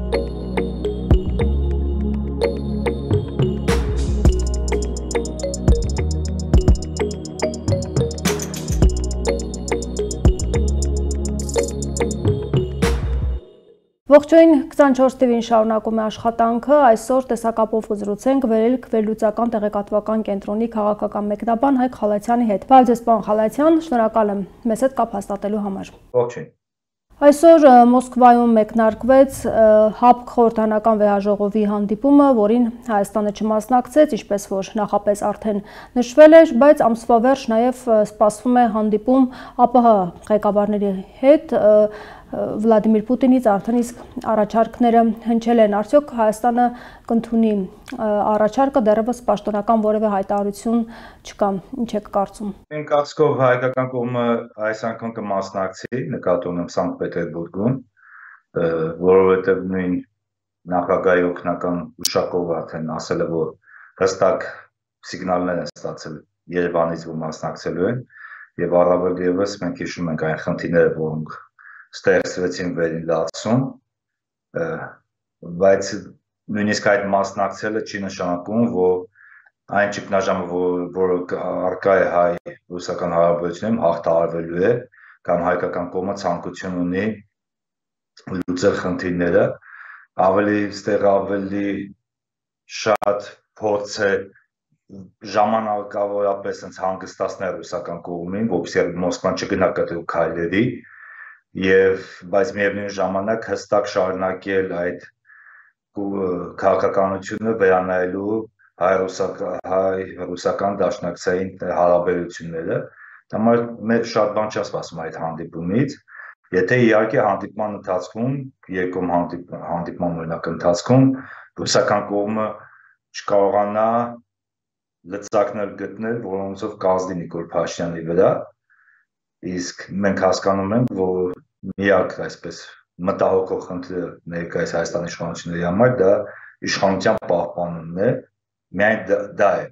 Ողջույն 24 TV-ին շարունակում է աշխատանքը, այսօր տեսակապով կզրուցենք վերելք վերլուծական տեղեկատվական կենտրոնի քաղաքական մեկնաբան Հայկ Խալաթյանի հետ։ Բարև ձեզ, պարոն Խալաթյան, շնորհակալ եմ մեզ հետ կապ հաստատելու համար։ Ողջույն։ Այսօր Մոսկվայում մեկնարկվեց ՀԱՊԿ խորհրդանական վեհաժողովի հանդիպումը, որին Հայաստանը չմասնակցեց, ինչպես որ նախապես արդեն նշվել էր, բայց ամսվա վերջ նաև սպասվում է հանդիպում ԱՊՀ ղեկավարների հետ, Վլադիմիր Պուտինից արդեն իսկ առաջարկները հնչել են, արդյոք Հայաստանը կընդունի առաջարկը, դեռևս պաշտոնական որևէ հայտարարություն չկա, ինչ եք կարծում։ Իմ կարծիքով հայկական կողմը այս անգամ կմասնակցի, նկատի ունեմ Սանկտ Պետերբուրգում, որովհետև նույն նախագահի օգնական Ուշակովը արդեն ասել է, որ հստակ սիգնալներ են ստացել Երևանից, որ մասնակցելու են, եւ առավել եւս մենք հիշում ենք այն խնդիրները, որոնք ստեղծվեցին վերին լացում, բայց նույնիսկ այդ մասնակցելը չի նշանակում, որ այն ճգնաժամը, որը առկա է հայ-ռուսական հարաբերություններում, հաղթահարվելու է, կամ հայկական կողմը ցանկություն ունի լուծել խնդիրները, ավելի շատ փորձ է ժամանակավորապես հանգստացնել ռուսական կողմին, որպեսզի Մոսկվան չգնա կտրուկ քայլերի, բայց միևնույն ժամանակ հստակ շարունակել այդ քաղաքականությունը վերանայելու հայ-ռուսական դաշնակցային հարաբերությունները, համար մեր շատ բան չի սպասում այդ հանդիպումից, եթե իհարկե հանդիպման ընթացքում, երկում հանդիպման օրինակ ընթացքում ռուսական կողմը չկարողանա լծակներ գտնել, որոնցով կազդի Նիկոլ Փաշինյանի վրա, իսկ մենք հասկանում ենք, որ միակ այսպես մտահոգող խնդիրը ներկայիս Հայաստանի իշխանությունների համար դա իշխանության պահպանումն է, միայն դա է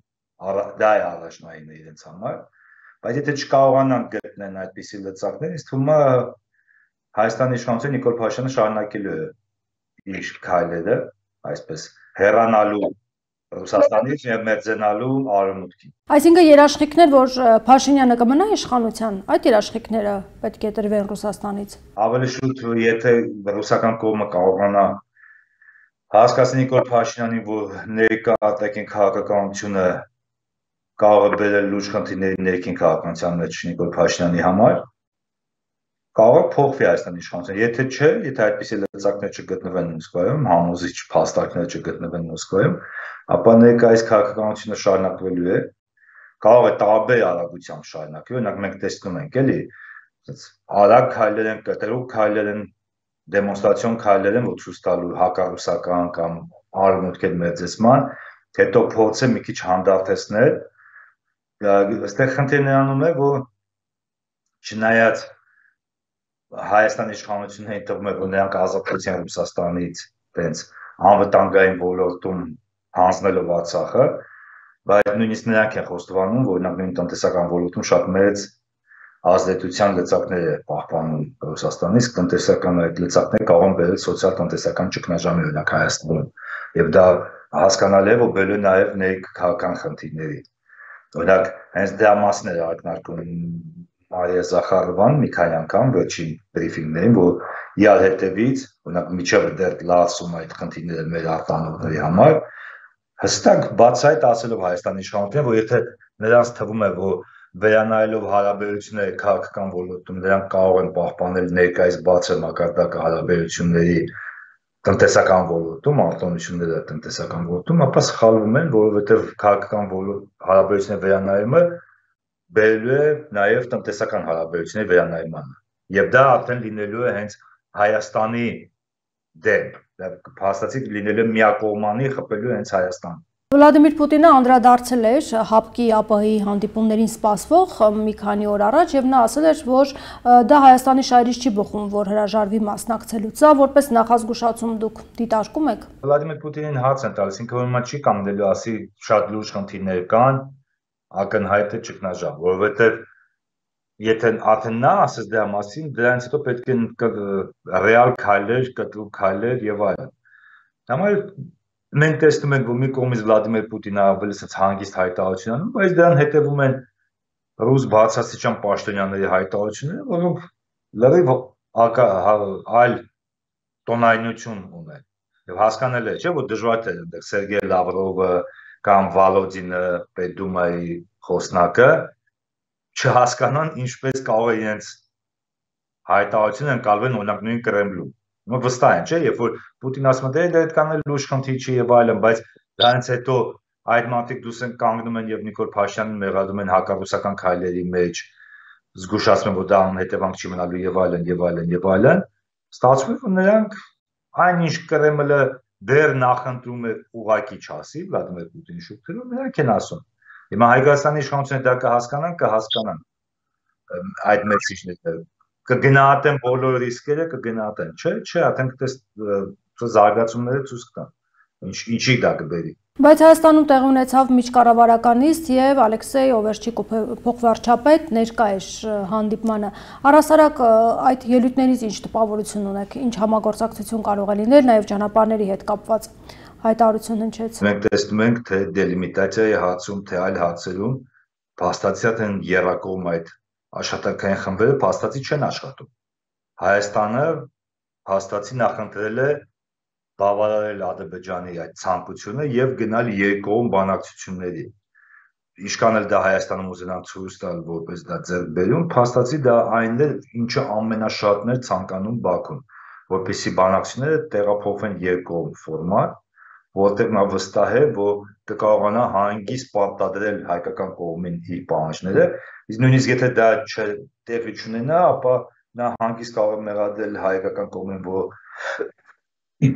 առաջնային իրենց համար, բայց եթե չկարողանան գտնել այդպիսի լծակներ, ինձ թվում է Հայաստանի իշխանությունը Նիկոլ Փաշինյանը շարունակելու է իր քայլերը, այսպես հեռանալու Ռուսաստանից եւ մերձենալու արևմուտքին։ Այսինքն երաշխիքներ, որ Փաշինյանը կմնա իշխանության, այդ երաշխիքները պետք է տրվեն Ռուսաստանից։ Ավելի շուտ, եթե ռուսական կողմը կարողանա հասկացնել Նիկոլ Փաշինյանին, որ ներկա արտաքին քաղաքականությունը կարող է բերել լուրջ խնդիրների ներքին քաղաքականության մեջ Նիկոլ Փաշինյանի համար, կարող է փոխվի Հայաստանի իշխանությունը, եթե չէ, եթե այդպիսի լծակներ չգտնվեն Մոսկվայում, համոզիչ փաստարկներ չգտնվեն Մոսկվայում, ապա ներկայիս քաղաքականությունը շարունակվելու է, կարող է տարբեր արագությամբ շարունակվի, օրինակ մենք տեսնում ենք, էլի, արագ քայլեր են, կտրուկ քայլեր են, դեմոնստրացիոն քայլեր են, որ ցույց տալու հակառուսական կամ արևմուտքի մեծացման, հետո փորձը մի քիչ հանդարտեցնել, այստեղ խնդիրն նրանում է, որ չնայած Հայաստանի իշխանություններին թվում է, որ նրանք ազատեցին Ռուսաստանից տենց անվտանգային ոլորտում հանձնելով Արցախը, բայց նույնիսկ նրանք են խոստովանում, որ օրինակ նույն տնտեսական ոլորտում շատ մեծ ազդեցության լծակներ է պահպանում Ռուսաստանից, տնտեսական այդ լծակները կարող են բերել սոցիալ-տնտեսական ճգնաժամի օրինակ Հայաստանում, եւ դա հասկանալի է, որ բերել է նաեւ ներքաղաքական խնդիրների։ Օրինակ հենց դրա մասն է ակնարկում Մարիա Զախարովան մի քանի անգամ վերջին բրիֆինգներին, որ իրար հետևից, օրինակ միջև դեռ լացում այդ խնդիրները մեր արտանողների համար, հստակ բացահայտ ասելով Հայաստանի իշխանությունները, որ եթե նրանց թվում է, որ վերանայելով հարաբերությունները քաղաքական ոլորտում նրանք կարող են պահպանել ներկայիս բացր մակարդակը հարաբերությունների տնտեսական ոլորտում, արտոնությունները տնտեսական ոլորտում, ապա սխալվում են, որովհետև քաղաքական հարաբերությունների վերանայումը բերելու է նաև տնտեսական հարաբերությունների վերանայմանը, եւ դա արդեն լինելու է հենց Հայաստանի դեմ, փաստացի լինելու է միակողմանի խփելու հենց Հայաստան։ Վլադիմիր Պուտինը անդրադարձել էր ՀԱՊԿ-ի ԱՊՀ-ի հանդիպումներին սպասվող մի քանի օր առաջ եւ նա ասել էր, որ դա Հայաստանի շահերից չի բխում, որ հրաժարվի մասնակցելուց, սա որպես նախազգուշացում դուք դիտարկում եք։ Վլադիմիր Պուտինին հաց են տալիս, ինքը ուրեմն չի կանգնելու ասի շատ լուրջ խնդիրներ կան, ակնհայտ է ճգնաժամ, որովհետեւ եթե արդեն նա ասես դրա մասին, դրանից հետո պետք է ռեալ քայլեր, կտրուկ քայլեր եւ այլն։ Համար մենք տեսնում ենք, որ մի կողմից Վլադիմիր Պուտինը ավելի հանգիստ հայտարարություն անում, բայց դրան հետևում են ռուս բարձրաստիճան պաշտոնյաների հայտարարությունները, որոնք լրիվ այլ տոնայնություն ունեն։ Եվ հասկանալի է, չէ՞, որ դժվար է այնտեղ Սերգեյ Լավրովը կամ Վալոդինը Պետդումայի խոսնակը չհասկանան ինչպես կարող է իրենց հայտարարությունը ընկալվեն օրինակ նույն Կրեմլում։ Վստահ են, չէ՞, երբ որ Պուտինը ասում է, դե այդ կանել լուրջ խնդիր չի եւ այլն, բայց դրանից հետո այդ մարդիկ դուրս են կանգնում են եւ Նիկոլ Փաշինյանին մեղադրում են հակառուսական քայլերի մեջ, զգուշացնում են, որ դա անհետևանք չի մնալու եւ այլն եւ այլն եւ այլն, ստացվում է, որ նրանք այնինչ Կրեմլը դեռ նախընտրում է ուղակի չասի Վլադիմիր Պուտինի շուրջ, նրանք են ասում։ Հիմա Հայաստանի իշխանությունը դա կհասկանան այդ մեսիջները, կգնահատեն բոլոր ռիսկերը, կգնահատեն, չէ, արդեն զարգացումները ցույց կտան, ինչի դա կբերի։ Բայց Հայաստանում տեղի ունեցավ միջկառավարական նիստ եւ Ալեքսեյ Օվերչիկ փոխվարչապետ ներկա էր հանդիպմանը։ Առհասարակ այդ ելույթներից ինչ տպավորություն ունեք, ինչ համագործակցություն կարող է լինել նաեւ ճանապարհների հետ կապված հայտարարություն հնչեց։ Մենք տեսնում ենք, թե դելիմիտացիայի հարցում, թե այլ հարցերում փաստացիորեն են երակողմ այդ աշխատանքային խմբերը փաստացի չեն աշխատում։ Հայաստանը փաստացի նախընտրել է բավարարել Ադրբեջանի այդ ցանկությունը եւ գնալ երկկողմ բանակցությունների։ Ինչքան էլ դա Հայաստանում ուզենան ցույց տալ, որպես դա ձեռքբերում, փաստացի դա այնն է, ինչը ամենաշատն է ցանկանում Բաքուն, որպեսզի բանակցությունները տեղափոխվեն երկկողմ ֆորմատ, որտեղ նա վստահ է, որ կկարողանա հանգիստ պարտադրել հայկական կողմին իր պահանջները, իսկ նույնիսկ եթե դա տեղի չունենա, ապա նա հանգիստ կարող է մեղադրել հայկական կողմին, որ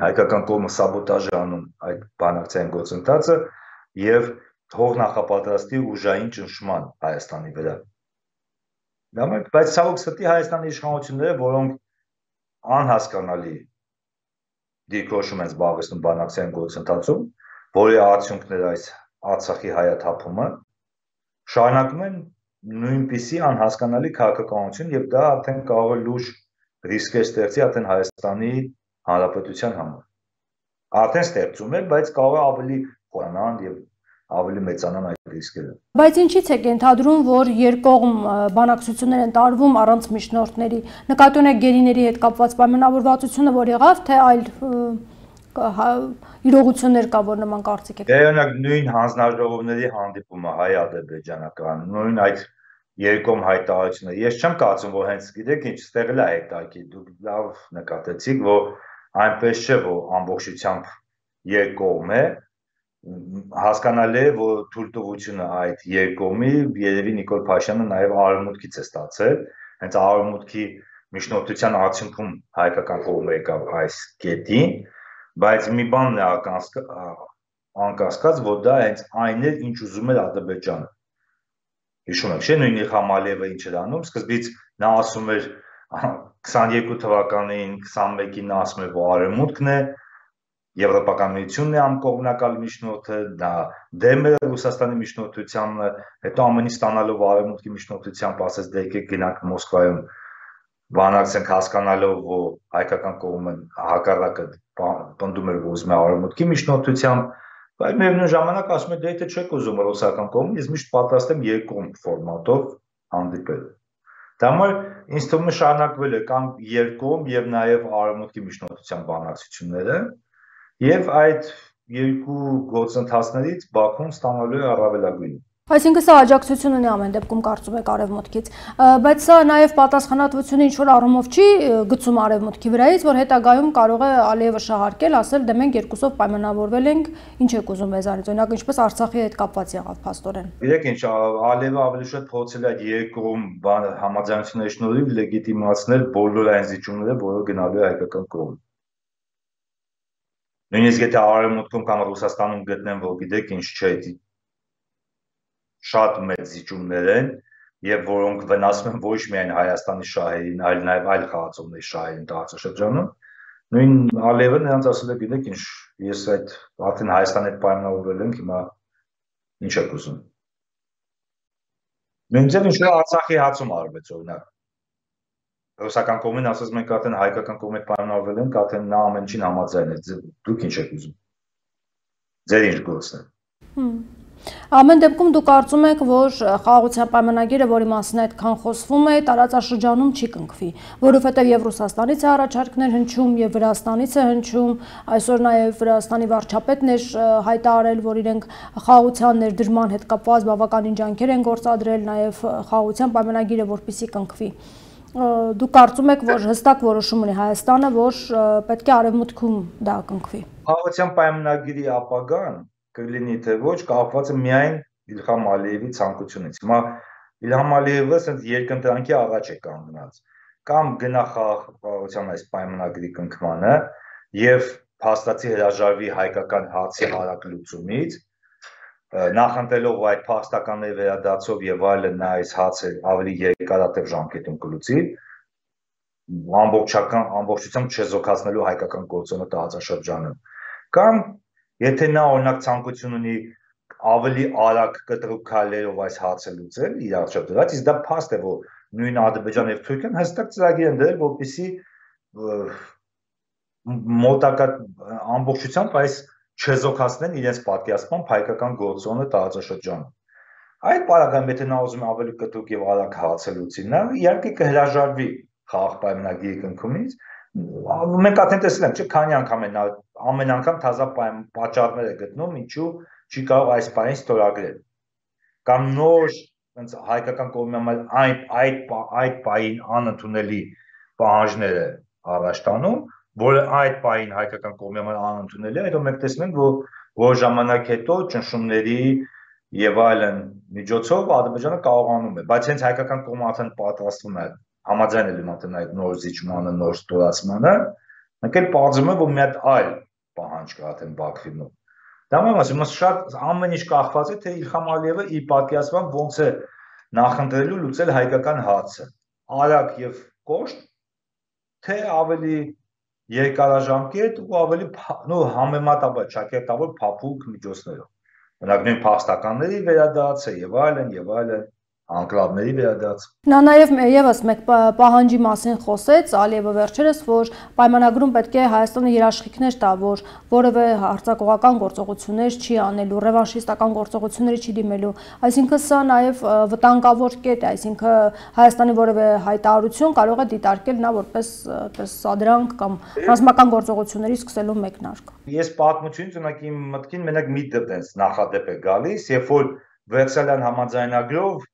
հայկական կողմը սաբոտաժ է անում այդ բանակցային գործընթացը եւ թող նախապատրաստի ուժային ճնշման Հայաստանի վրա։ Բայց ցավոք սրտի Հայաստանի իշխանությունները, որոնք անհասկանալի դիրքորոշում են զբաղեցնում բանակցային գործընթացում, որի արդյունքն է այս Արցախի հայաթափումը, շարունակում են նույնպիսի անհասկանալի քաղաքականություն եւ դա արդեն կարող է լուրջ ռիսկեր ստեղծի արդեն Հայաստանի Հանրապետության համար։ Արդեն ստեղծում է, բայց կարող է ավելի խորանան եւ ավելի մեծանան այդ ռիսկերը։ Բայց ինչի՞ց եք ենթադրում, որ երկկողմ բանակցություններ են տարվում առանց միջնորդների, նկատի ունեք գերիների հետ կապված պայմանավորվածությունը, որ եղավ, թե այլ իրողություններ կա, որ նման կարծիք եք։ Դե օրինակ նույն հանձնաժողովների հանդիպումը հայ-ադրբեջանական, նույն այդ երկկողմ հայտարարությունը։ Ես չեմ կարծում, որ հենց գիտեք ինչ ստեղել է հետաքրքիր, դուք լավ նկատեցիք, որ այնպես չէ, որ ամբողջությամբ երկկողմ է, հասկանալի է, որ թույլտվությունը այդ երկկողմի երևի Նիկոլ Փաշինյանը նաև արևմուտքից է ստացել, հենց արևմուտքի միջնորդության արդյունքում հայկական կողմը եկավ այս կետին, բայց մի բանն է անկասկած, որ դա հենց այն էր, ինչ ուզում էր Ադրբեջանը։ Հիշում եք, չէ՞, նույն Իլհամ Ալիևը ինչ էր անում, սկզբից նա ասում էր 22 թվականին, 21-ին նա ասում էր, որ արևմուտքն է, Եվրոպական միությունն է անկողմնակալ միջնորդը, դա դեմ է Ռուսաստանի միջնորդությանը, հետո ամենից ստանալով արևմուտքի միջնորդությամբ ասեց դե եկեք գնանք Մոսկվայում բանակցենք, հասկանալով, որ հայկական կողմը հակառակը պնդում էր, որ ուզում է արևմուտքի միջնորդությամբ, բայց միևնույն ժամանակ ասում է դե եթե չեք ուզում ռուսական կողմը, ես միշտ պատրաստ եմ երկկողմ ֆորմատով հանդիպել։ Դա համար ինձ թվում է շարունակվել է կամ երկկողմ եւ նաեւ արևմուտքի միջնորդության բանակցությունները եւ այդ երկու գործընթացներից Բաքուն ստանալու է առավելագույնը։ Այսինքն սա աջակցություն ունի ամեն դեպքում կարծում եք արևմուտքից, բայց սա նաեւ պատասխանատվությունը ինչ որ առումով չի գցում արևմուտքի վրայից, որ հետագայում կարող է Ալիևը շահարկել, ասել դե մենք երկուսով պայմանավորվել ենք, ինչ եք ուզում մեզանից, օրինակ ինչպես Արցախի հետ կապված եղավ փաստորեն։ Գիտեք ինչ, Ալիևը ավելի շատ փորձել է այդ երկկողմ համաձայնությունների շնորհիվ լեգիտիմացնել բոլոր այն զիջումները, որը գնալու է հայկական կողմ։ Նույնիսկ եթե արևմուտքում կամ Ռուսաստանում գտնեն, որ գիտեք ինչ չէ, շատ մեծ զիջումներ են եւ որոնք վնասում են ոչ միայն Հայաստանի շահերին, այլ նաեւ այլ խաղացողների շահերին տարածաշրջանում, նույն Ալիևը նրանց ասել է գիտեք ինչ, ես այդ արդեն Հայաստանի հետ պայմանավորվել ենք, հիմա ինչ եք ուզում։ Նույնիսկ ինչ որ Արցախի հարցում արվեց օրինակ։ ռուսական կողմին ասած մենք արդեն հայկական կողմի պայմանավորվել ենք, արդեն նա ամեն ինչին համաձայն է, դուք ինչ եք ուզում։ Ձեր ինչ գործն է։ Ամեն դեպքում դուք կարծում եք, որ խաղաղության պայմանագիրը, որի մասին այդքան խոսվում է, տարածաշրջանում չի կնքվի, որովհետև եւ Ռուսաստանից է առաջարկներ հնչում, եւ Վրաստանից է հնչում, այսօր նաեւ Վրաստանի վարչապետն էր հայտարարել, որ իրենք խաղաղության ներդրման հետ կապված բավականին ջանքեր են գործադրել, նաեւ խաղաղության պայմանագիրը որպեսզի կնքվի։ Դուք կարծում եք, որ հստակ որոշում ունի Հայաստանը, որ պետք է արևմուտքում դա կնքվի։ Խաղաղության պայմանագիրի ապագան կլինի թե ոչ կապված է միայն Իլհամ Ալիևի ցանկությունից։ Հիմա Իլհամ Ալիևը ասենց երկընտրանքի առաջ է կանգնած։ Կամ գնա խաղաղության այս պայմանագրի կնքմանը եւ փաստացի հրաժարվի հայկական հարցի արագ լուծումից, նախընտրելով այդ փաստականների վերադարձով եւ այլն նա այս հարցը ավելի երկարատև ժամկետում կլուծի, ամբողջությամբ չեզոքացնելու հայկական գործոնը տարածաշրջանում։ Կամ եթե նա օրինակ ցանկություն ունի ավելի արագ կտրուկ քայլերով այս հարցը լուծել իր առջև դրած, իսկ դա փաստ է, որ նույն Ադրբեջանը եւ Թուրքիան հստակ ծրագիր են դրել, որպեսզի մոտակա ամբողջությամբ այս չեզոքացնեն իրենց պատկերացմամբ հայկական գործոնը տարածաշրջանում։ Այդ պարագայում եթե նա ուզում է ավելի կտրուկ եւ արագ հարցը լուծի, նա իհարկե կհրաժարվի խաղաղ պայմանագրի կնքումից։ Մենք արդեն տեսել ենք, չէ՞, քանի անգամ է նա ամեն անգամ թազա պատճառներ է գտնում, ինչու չի կարող այս բանին ստորագրել։ Կամ նոր այնց հայկական կողմի այդ բային անընդունելի պահանջները առաջ տանում, որը այդ բային հայկական կողմի անընդունելի է, հետո մենք տեսնում ենք, որ որ ժամանակ հետո ճնշումների եւ այլն միջոցով Ադրբեջանը կարողանում է, բայց հենց հայկական կողմը արդեն պատրաստվում է համաձայնել իմաստն այդ նոր զիջմանը, նոր ստորացմանը, մենք էլ պարզում ենք, որ մի հատ այլ պահանջ կա արդեն Բաքվի մոտ։ Դա ասում եմ, շատ ամեն ինչ կախված է, թե Իլհամ Ալիևը իր պատկերացմամբ ոնց է նախընտրելու լուծել հայկական հարցը, արագ եւ կոշտ, թե ավելի երկարաժամկետ ու ավելի համեմատաբար ճակերտավոր փափուկ միջոցներով։ Օրինակ նույն փաստականների վերադարձը եւ այլն անկլավների վերադարձ։ Նա նաև եւս մեկ պահանջի մասին խոսեց Ալիևը վերջերս, որ պայմանագրում պետք է Հայաստանը երաշխիքներ տա, որ որևէ հարձակողական գործողություններ չի անելու, ռևանշիստական գործողությունների չի դիմելու, այսինքն սա նաև վտանգավոր կետ է, այսինքն Հայաստանի որևէ հայտարարություն կարող է դիտարկել նա որպես սադրանք կամ ռազմական գործողությունների սկսելու մեկնարկ։ Ես պատմությունից ունակ իմ մտքին մենակ մի դեպս նախադեպ է գալիս, երբ որ Վերսալյան համաձայնագրով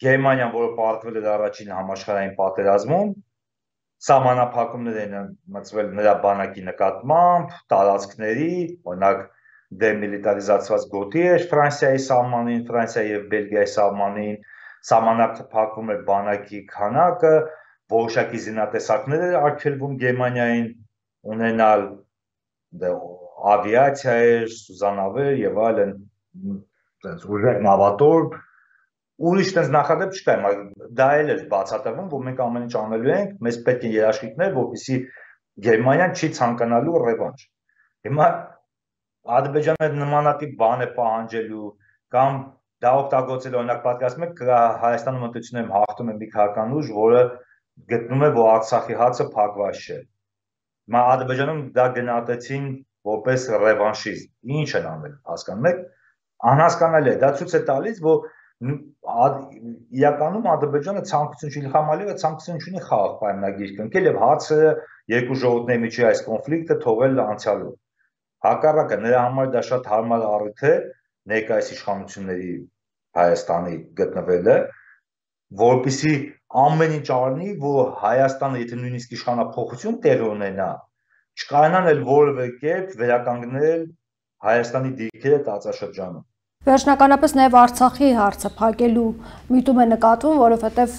Գերմանիան, որը պարտվել էր առաջին համաշխարհային պատերազմում, սահմանափակումներ են մտցվել նրա բանակի նկատմամբ, տարածքների, օրինակ դեմիլիտարիզացված գոտի էր Ֆրանսիայի սահմանին, Ֆրանսիայի եւ Բելգիայի սահմանին, սահմանափակվում էր բանակի քանակը, որոշակի զինատեսակներ էր արգելվում Գերմանիային ունենալ, ավիացիա էր, սուզանավեր եւ այլն, այնպես ուժեղ նավատորմ Ուրիշ տենց նախադեպ չկա, դա էլ էր բացատրվում, որ մենք ամեն ինչ անելու ենք, մեզ պետք է երաշխիքներ, որպեսզի Գերմանիան չի ցանկանալու ռևանշ։ Հիմա Ադրբեջանը նմանատիպ բան է պահանջելու կամ դա օգտագործել օրինակ պատկերացնում եք Հայաստանում մտություններում հաղթում է մի քաղաքական ուժ, որը գտնում է, որ Արցախի հարցը փակված չէ։ Հիմա Ադրբեջանում դա գնահատեցին որպես ռևանշիզմ։ Ինչ են անել, հասկանում եք։ Անհասկանալի է, դա ցույց է տալիս, որ իրականում Ադրբեջանը ցանկություն չի Իլհամ Ալիևը ցանկություն չունի խաղաղ պայմանագիր կնքել եւ հարցը երկու ժողովուրդների միջի այս կոնֆլիկտը թողել անցյալում։ Հակառակը նրա համար դա շատ հարմար առիթ է ներկայիս իշխանությունների Հայաստանի գտնվելը, որպեսզի ամեն ինչ արնի, որ Հայաստանը եթե նույնիսկ իշխանափոխություն տեղի ունենա, չկարողանան էլ որևէ կերպ վերականգնել Հայաստանի դիրքերը տարածաշրջանում։ Վերջնականապես նաև Արցախի հարցը փակելու միտում է նկատվում, որովհետև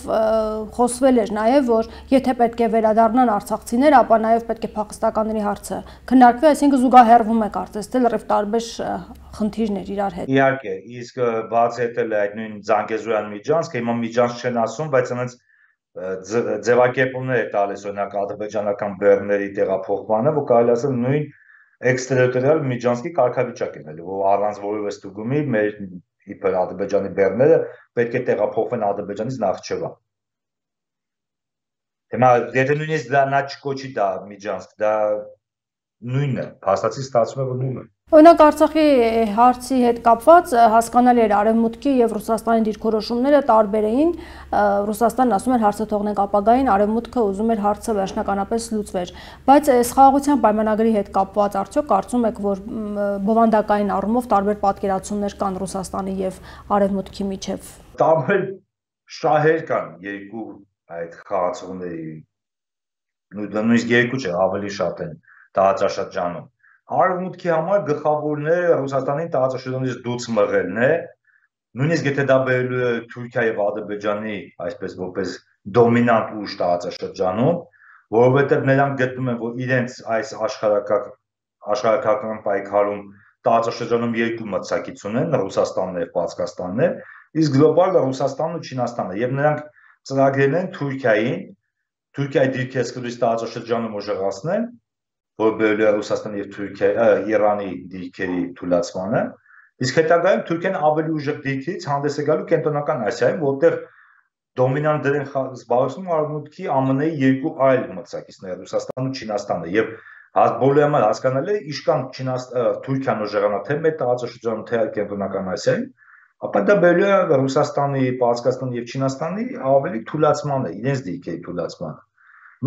խոսվել էր նաև, որ եթե պետք է վերադառնան արցախցիներ, ապա նաև պետք է փախստականների հարցը քննարկվի, այսինքն զուգահեռվում է կարծես թե լրիվ տարբեր խնդիրներ իրար հետ։ Իհարկե, իսկ բացահայտել է այդ նույն Զանգեզուրյան միջանցքը, հիմա միջանց չեն ասում, բայց այնց ձևակերպումներ է տալիս օրինակ ադրբեջանական բեռների տեղափոխմանը, որ կարելի ասել նույն էքստերիտորիալ միջանցքի կարգավիճակ է ելնելու, որ առանց որևէ ստուգումի մեր իբր Ադրբեջանի բեռները պետք է տեղափոխվեն Ադրբեջանից Նախճեվան։ Հիմա եթե նույնիսկ դա նա չկոչի դա Միջանցք, դա նույնն է, փաստացի ստացվում է որ նույնն է։ Օրինակ Արցախի հարցի հետ կապված հասկանալի էր Արևմուտքի եւ Ռուսաստանի դիրքորոշումները տարբեր էին։ Ռուսաստանն ասում էր հարցը թողնենք ապագային, Արևմուտքը ուզում էր հարցը վերջնականապես լուծվեր։ Բայց այս խաղաղության պայմանագրի հետ կապված արդյոք կարծում եք, որ բովանդակային առումով տարբեր պատկերացումներ կան Ռուսաստանի եւ Արևմուտքի միջեւ։ Տարբեր շահեր կան երկու այդ խաղացողների։ Նույնիսկ երկու չէ, ավելի շատ են տարածաշրջանում։ Արևմուտքի համար գլխավորն է Ռուսաստանին տարածաշրջանից դուրս մղելն է, նույնիսկ եթե դա բերելու է Թուրքիա եւ Ադրբեջանի, այսպես որպես դոմինանտ ուժ տարածաշրջանում, որովհետեւ նրանք գտնում են, որ իրենց այս աշխարհակական պայքարում տարածաշրջանում երկու մրցակից ունեն, Ռուսաստանն եւ Պարսկաստանն է, իսկ գլոբալ Ռուսաստանն ու Չինաստանն է, եւ նրանք ծրագրել են Թուրքիայի դիրքերսկրույց տարածաշրջանում ուժեղացնել, որ բերելու է Ռուսաստանի եւ Իրանի դիրքերի թուլացմանը, իսկ հետագայում Թուրքիան ավելի ուժեղ դիրքերից հանդես է գալու Կենտրոնական Ասիայում, որտեղ դոմինանտ դերն զբաղեցնում Արևմուտքի ԱՄՆ-ի երկու այլ մրցակիցներ, Ռուսաստանն ու Չինաստանը, եւ բոլորի համար հասկանալի է, իշքան Թուրքիան ուժեղանա թե մեր տարածաշրջանում, թե Կենտրոնական Ասիայում, ապա դա բերելու է Ռուսաստանի, Պարսկաստանի եւ Չինաստանի ավելի թուլացմանը, իրենց դիրքերի թուլացմանը։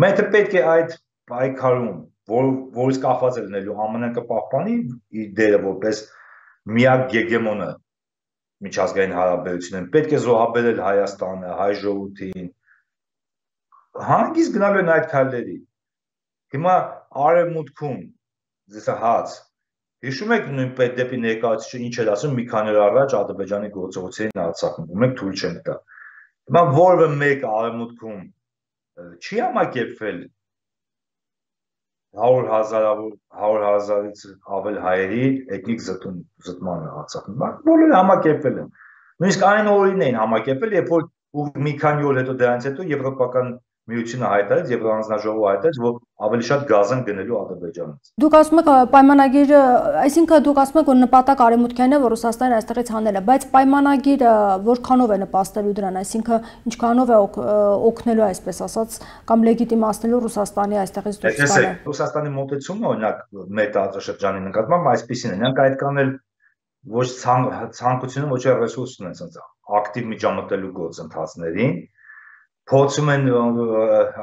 Մենք պետք է այդ պայքարում, որից կախված է լինելու ԱՄՆ-ն կպահպանի իր դերը որպես միակ գեգեմոնը միջազգային հարաբերություններում, պետք է զոհաբերել Հայաստանը, հայ ժողովրդին, հանգիստ գնալու են այդ քայլերի։ Հիմա Արևմուտքում հաց հիշում եք նույնպես դեպի ներկայացուցիչը ինչ էր ասում մի քանի օր առաջ Ադրբեջանի գործողություններին Արցախում, մենք թույլ չենք տա։ Հիմա որևէ մեկը Արևմուտքում չի համակերպվել 100,000-ից ավել հայերի էթնիկ զտմանը Արցախում։ Բոլորը համակերպվել են։ Նույնիսկ այն օրերին էին համակերպել, երբ որ մի քանի օր հետո դրանից հետո Եվրոպական միությունը հայտարարեց, Եվրոհանձնաժողովը հայտարարեց, որ ավելի շատ գազ են գնելու Ադրբեջանից։ Դուք ասում եք պայմանագիրը, այսինքն դուք ասում եք, որ նպատակ Արևմուտքյան է, որ Ռուսաստանը այստեղից հանելը, բայց պայմանագիրը որքանով է նպաստելու դրան, այսինքն ինչքանով է օգնելու, այսպես ասած, կամ լեգիտիմացնելու Ռուսաստանի այստեղից դուրս գալը։ Ռուսաստանի մոտեցումը, օրինակ, մեր տարածաշրջանի նկատմամբ այսպեսին է, նրանք այդ կանել ոչ ցանկությունը, ոչ էլ ռեսուրս ունեն, ասած ակտիվ միջամտելու գործընթացներին, փորձում են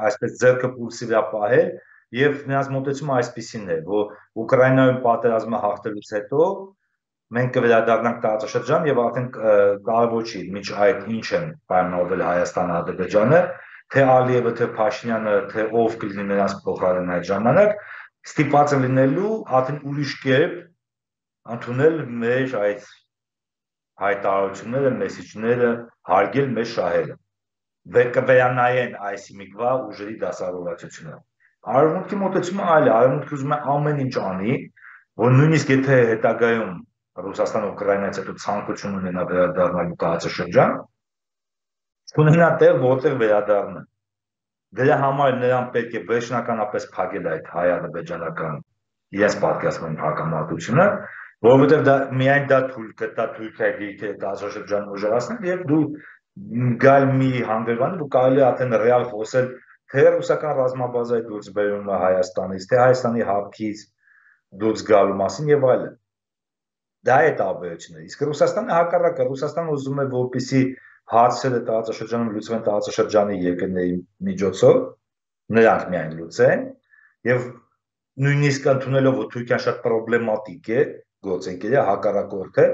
այսպես ձեռքը պուլսի վրա պահել եւ նրանց մոտեցումը այսպեսին է, որ Ուկրաինայում պատերազմը հաղթելուց հետո մենք կվերադառնանք տարածաշրջան եւ արդեն կարևոր չի միջ այդ ինչ են պայմանավորվել Հայաստանը, Ադրբեջանը, թե Ալիևը, թե Փաշինյանը, թե ով կլինի նրանց փոխարեն այդ ժամանակ, ստիպված են լինելու արդեն ուրիշ կերպ ընդունել մեր այդ հայտարարությունները, մեսիջները, հարգել մեր շահերը։ Կվերանայեն այս իմիգվա ուժերի դասավորվածությունը։ Արևմուտքի մոտեցումը այլ է, Արևմուտքը ուզում է ամեն ինչ անի, որ նույնիսկ եթե հետագայում Ռուսաստանը Ուկրաինայից հետո ցանկություն ունենա վերադառնալու տարածաշրջան, ունենա տեղ, որտեղ վերադառնա։ Դրա համար նրան պետք է վերջնականապես փակել այդ հայ-ադրբեջանական իրենց պատկերացման հակամարտությունը, որովհետև դա միայն դա թույլ կտա Թուրքիայի դիրքերը տարածաշրջանում ուժեղացնել եւ դու գալ մի հանգրվանի, որ կարելի է արդեն ռեալ խոսել թե ռուսական ռազմաբազայի դուրս բերումը Հայաստանից, թե Հայաստանի հապկից դուրս գալու մասին եւ այլն։ Դա է տարբերությունը։ Իսկ Ռուսաստանը հակառակը, Ռուսաստանը ուզում է որպեսզի հարցերը տարածաշրջանում լուծվեն տարածաշրջանի երկրների միջոցով, նրանք միայն լուծեն եւ նույնիսկ ընդունելով որ Թուրքիան շատ պրոբլեմատիկ է, գործընկեր է, հակառակորդ է,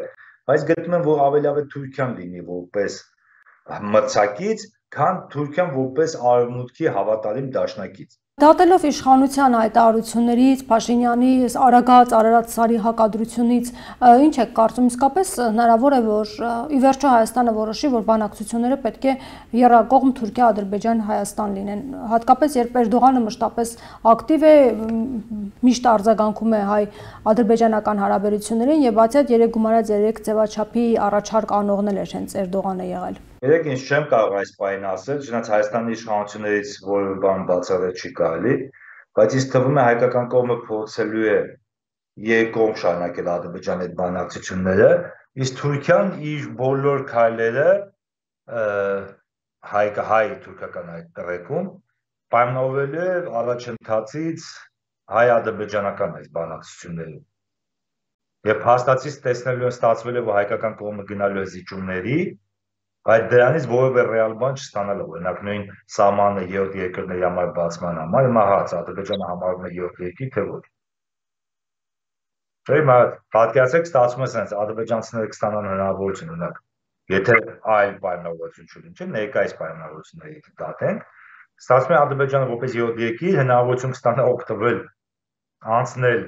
բայց գտնում են որ ավելի ավելի Թուրքիան լինի որպես մրցակից, քան Թուրքիան որպես Արևմուտքի հավատարիմ դաշնակից։ Դատելով իշխանության հայտարարություններից, Փաշինյանի արագած Արարատսարի հակադրությունից, ինչ է կարծում իսկապես հնարավոր է, որ ի վերջո Հայաստանը որոշի, որ բանակցությունները պետք է եռակողմ Թուրքիա-Ադրբեջան-Հայաստան լինեն, հատկապես երբ Էրդողանը մշտապես ակտիվ է, միշտ արձագանքում է հայ-ադրբեջանական հարաբերություններին եւ բացի այդ 3 գումարած 3 ձևաչափի առաջարկ անողնել էր հենց Էրդողանը եղել։ Երեք ինչ չեմ կարող այս բանը ասել, չնայած Հայաստանի իշխանություններից որևէ բան բացառել չի կարելի, բայց ինձ թվում է հայկական կողմը փորձելու է երկկողմ շարունակել Ադրբեջանի հետ բանակցությունները, իսկ Թուրքիան իր բոլոր քայլերը հայ-թուրքական այդ տրեկում պայմանավորվել է առաջընթացից հայ-ադրբեջանական այս բանակցությունների։ Եվ փաստացից տեսնելու են ստացվել է, որ հայկական կողմը գնալու է զիջումների, բայց դրանից որևէ ռեալ բան չստանալու, օրինակ նույն սահմանը երրորդ երկրների համար բացման համար, հիմա հարց Ադրբեջանը համարում է երրորդ երկիր, թե ոչ։ Հիմա պատկերացրեք, ստացվում է sense ադրբեջանցիները կստանան հնարավորություն, օրինակ, եթե այլ պայմանավորություն չլինի, չէ՞, ներկայիս պայմանավորությունների դատենք, ստացվում է Ադրբեջանը որպես երրորդ երկիր հնարավորություն կստանա օգտվել անցնել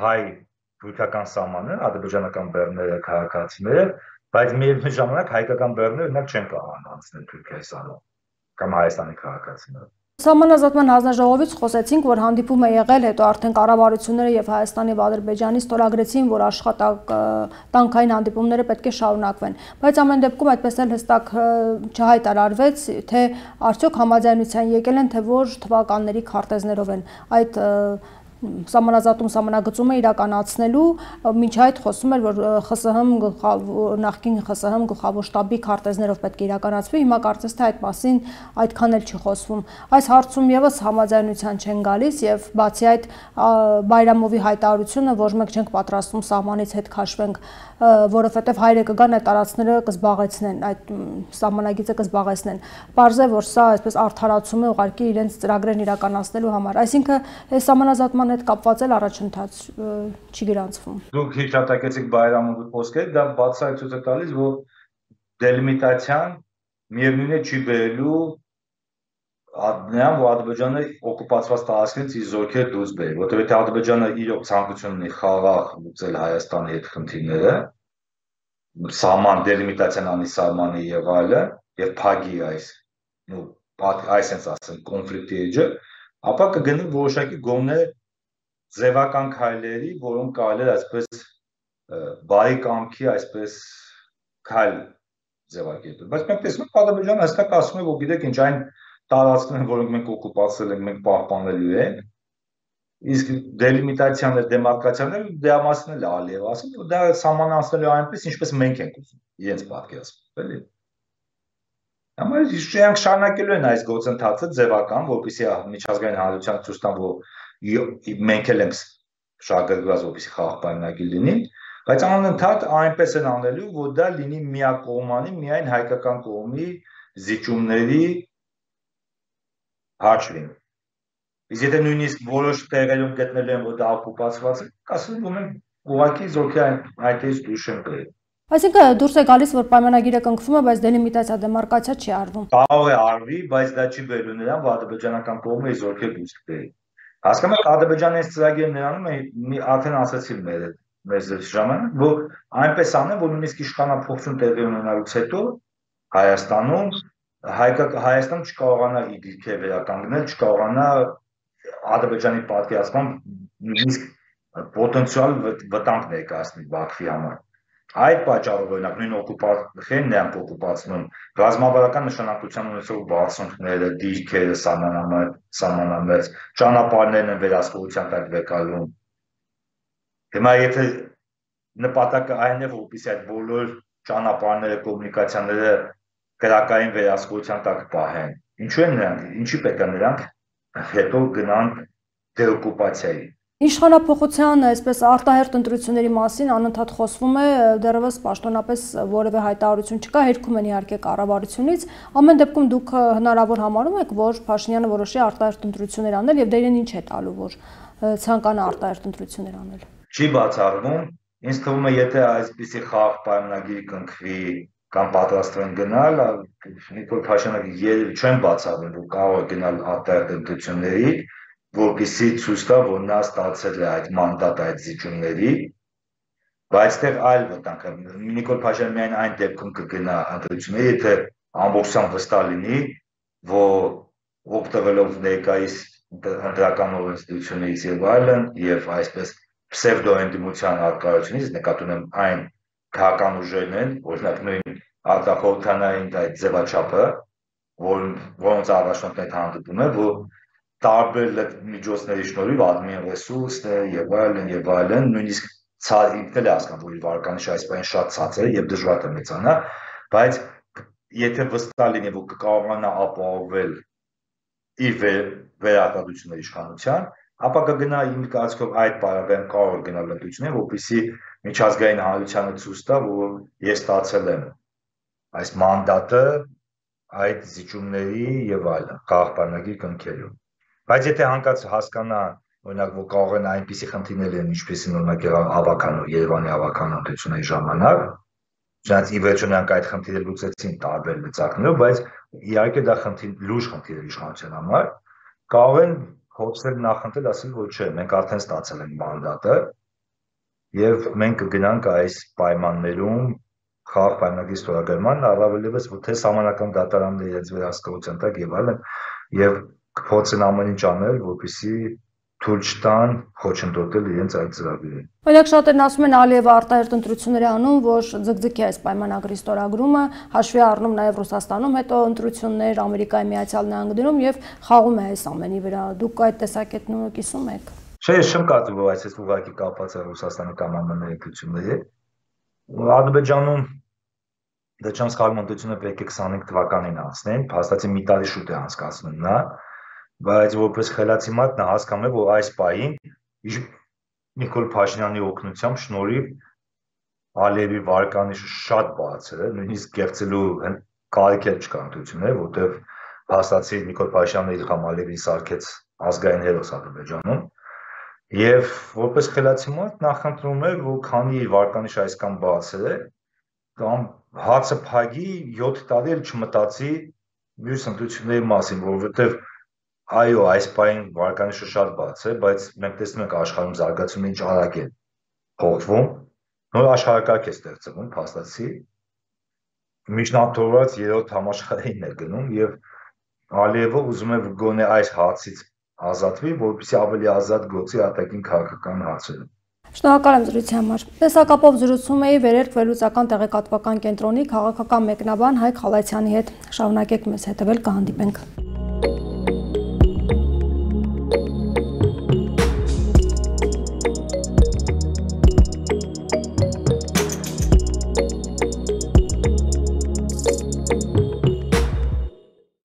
հայ-թուրքական սահմանը, ադրբեջանական բեռները, քաղաքացիները, բայց միևնույն ժամանակ հայկական բեռները օրինակ չեն կարող անցնել Թուրքիայի սահման կամ Հայաստանի քաղաքացիները։ Սահմանազատման հանձնաժողովից խոսեցինք, որ հանդիպում է եղել, հետո արդեն կառավարությունները եւ Հայաստանի եւ Ադրբեջանի ստորագրեցին, որ աշխատանքային հանդիպումները պետք է շարունակվեն։ Բայց ամեն դեպքում այդպես էլ հստակ չհայտարարվեց, թե արդյոք համաձայնության եկել են, թե որ թվականների քարտեզներով են այդ սահմանագծումը իրականացնելու, մինչ այդ խոսում էր, որ նախկին ԽՍՀՄ գլխավոր շտաբի քարտեզներով պետք է իրականացվի, հիմա կարծես թե այդ մասին այդքան էլ չի խոսվում։ Այս հարցում եւս համաձայնության չեն գալիս եւ բացի այդ Բայրամովի հայտարարությունը, որ մենք չենք պատրաստվում սահմանից հետ քաշվենք, որովհետեւ հայերը կգան այդ տարածքները կզբաղեցնեն, այդ սահմանագիծը կզբաղեցնեն։ Պարզ է, որ սա այսպես արդարացում է ուղղակի իրենց ծրագրերն իրականացնելու համար։ Այսինքն այս սահմանազատման հետ կապված էլ առաջընթաց չի գրանցվում։ Դուք հիշատակեցիք Բայրամովի խոսքերը, դա բացառիկ ցույց է տալիս, որ դելիմիտացիան միևնույն է չի բերելու նրան, որ Ադրբեջանը օկուպացված տարածքներից իր զորքերը դուրս բերի, որտեղ եթե Ադրբեջանը իրոք ցանկություն ունի խաղաղ լուծել Հայաստանի հետ խնդիրները, սահման դելիմիտացիան անի սահմանի եւ այլը, եւ փագի այս այսպես ասեմ կոնֆլիկտի էջը, ապա կգնի որոշակի գոնե ձևական քայլերի, որոնք կարելի է այսպես բարի կամքի այսպես քայլ ձևակերպել։ Բայց մենք տեսնում ենք Ադրբեջանը հստակ ասում է, որ գիտեք ինչ այն տարածքները, որոնք մենք օկուպացրել ենք, մենք պահպանելու ենք, իսկ դելիմիտացիան եւ դեմարկացիաները դրա մասին էլ Ալիևը ասում, որ դա սահմանացնելու այնպես, ինչպես մենք ենք ուզում, իրենց պատկերացնում, էլի։ Համար իշխանք շարունակելու են այս գործընթացը ձևական, որպեսզի միջազգային հանրության ցույց տան, որ մենք էլ ենք շահագրգռված, որպեսզի խաղաղ պայմանագիր լինի, բայց անընդհատ այնպես են անելու, որ դա լինի միակողմանի, միայն հայկական կողմի զիջումների հաշվին։ Իսկ եթե նույնիսկ որոշ տեղերում գտնելու են, որ դա օկուպացված է, ասում որ մենք ուղղակի զորքեր այդտեղից դուրս են բերել։ Այսինքն դուրս է գալիս, որ պայմանագիրը կնքվում է, բայց դելիմիտացիա դեմարկացիա չի արվում։ Կարող է արվի, բայց դա չի բերելու նրան, որ ադրբեջանական կողմը իր զորքեր դուրս բերի։ Հասկանում եք, Ադրբեջանի այս ծրագիրը նրանում է արդեն ասացի մեր ժամանակ, որ այնպես անեն, որ նույնիսկ իշխանափոխություն տեղի ունենալուց հետո Հայաստանում Հայաստանը չկարողանա իր դիրքերը վերականգնել, չկարողանա Ադրբեջանի պատկերացմամբ նույնիսկ պոտենցիալ վտանգ ներկայացնել Բաքվի համար։ Այդ պատճառով օրինակ նույն օկուպացիան նրանք օկուպացնում ռազմավարական նշանակության ունեցող բարձունքները, դիրքերը, սահմանամերձ ճանապարհներն են վերահսկողության տակ վեկալում։ Հիմա եթե նպատակը այն է, որպեսզի այդ բոլոր ճանապարհները, կոմունիկացիաները քրակային վերահսկողության տակ պահեն, ինչու են նրանք, ինչի պետք է նրանք հետո գնան դեօկուպացիայի։ Իշխանափոխության այսպես արտահերթ ընտրությունների մասին անընդհատ խոսվում է, դեռևս պաշտոնապես որևէ հայտարարություն չկա, հերքում են իհարկե կառավարությունից, ամեն դեպքում դուք հնարավոր համարում եք, որ Փաշինյանը որոշի արտահերթ ընտրություններ անել եւ դերին ինչ է տալու, որ ցանկանա արտահերթ ընտրություններ անել։ Չի բացառվում, ինձ թվում է, եթե այսպիսի խաղաղ պայմանագիր կնքվի կամ պատրաստվեն գնալ, Նիկոլ Փաշինյանը երևի չեն բացառում, որ կարող է գնալ արտահերթ ընտրությունների, որպեսզի ցույց տա, որ նա ստացել է այդ մանդատը այդ զիջումների, բայց այստեղ այլ վտանգ է։ Նիկոլ Փաշինյանը միայն այն դեպքում կգնա ընտրությունների, եթե ամբողջությամբ վստահ լինի, որ օգտվելով ներկայիս ընտրական օրենսդրությունից եւ այլն, եւ այսպես պսևդոընդդիմության արկայությունից նկատի ունեմ այն քաղաքական ուժերն են, օրինակ նույն արտախորհրդանային այդ ձևաչափը, որոնց առաջնորդն այդ հանդիպում է, որ տարբեր միջոցների շնորհիվ admin ռեսուրսներ եւ այլն, նույնիսկ ինքն էլ է հասկանում, որ իր վարկանիշը այսպես շատ ցածր է եւ դժվար է մեծանա, բայց եթե վստահ լինի, որ կկարողանա ապահովել իր վերարտադրությունների իշխանության, ապա կգնա իմ կարծիքով այդ պարագայում կարող է գնալ լրտվություններ, որպեսզի միջազգային հանրությանը ցույց տա, որ ես ստացել եմ այս մանդատը այդ զիջումների եւ այլն խաղաղ պայմանագիր կնքելու։ Բայց եթե հանկարծ հասկանա, օրինակ, որ կարող են այնպիսի խնդիրներ լինել, ինչպեսին օրինակ հավաքանու Երևանի հավաքանության ժամանակ, Չնայած ի վերջո նրանք այդ խնդիրը լուծեցին տարբեր լծակներով, բայց իհարկե դա լուրջ խնդիր է իշխանության համար, կարող են փորձել նախընտրել, ասել, որ չէ, մենք արդեն ստացել ենք մանդատը եւ մենք կգնանք այս պայմաններում խաղաղ պայմանագրի ստորագրման, առավելևս որ թե սահմանական դատարանները իրենց վերահսկողության տակ եւ այլն, եւ կփորձեն ամեն ինչ անել, որպեսզի թույլ չտան խոչընդոտել իրենց այդ ծրագրերը։ Օրինակ շատերն ասում են Ալիևը արտահերտ ընտրություններ անում, որ ձգձգի այս պայմանագրի ստորագրումը, հաշվի առնում նաև Ռուսաստանում հետո ընտրություններ, Ամերիկայի Միացյալ Նահանգներում եւ խաղում է այս ամենի վրա։ Դուք այդ տեսակետն կիսում եք։ Չէ, ես չեմ կարծում, որ այս ուղղակի կապված է Ռուսաստանի կամ ԱՄՆ-ի ընտրությունների։ Ադրբեջանում դա չեմ սխալվում, ընտրությունը պետք է 25 թվականին անցնեն, փաստացի մի տարի շուտ է անցկացնում նա, բայց որպես խելացի մարդ նա հասկանում է, որ այս պահին Նիկոլ Փաշինյանի օգնությամբ շնորհիվ Ալիևի վարկանիշը շատ բարձր է, նույնիսկ կեղծելու կարիք չկա ընտրություններ, որտեղ փաստացի Նիկոլ Փաշինյանը Իլհամ Ալիևին սարքեց ազգային հերոս Ադրբեջանում, եւ որպես խելացի մարդ նախընտրում է, որ քանի վարկանիշը այսքան բարձր է, կամ հացը փագի 7 տարի էլ չմտածի մյուս ընտրությունների մասին, որովհետեւ այո, այս պահին վարկանիշը շատ բարձր է, բայց մենք տեսնում ենք աշխարհում զարգացումը ինչ արագ է փոխվում, նոր աշխարհակարգ է ստեղծվում, փաստացի միջնորդորված 3-րդ համաշխարհային է գնում եւ Ալիևը ուզում է գոնե այս հարցից ազատվի, որպեսզի ավելի ազատ գործի արտաքին քաղաքական հարցերում։ Շնորհակալ եմ զրույցի համար։ Տեսակապով զրուցում էի Վերերք վերլուծական տեղեկատվական կենտրոնի քաղաքական մեկնաբան Հայկ Խալացյանի հետ։ Շարունակեք մեզ հետևել, կհանդիպենք։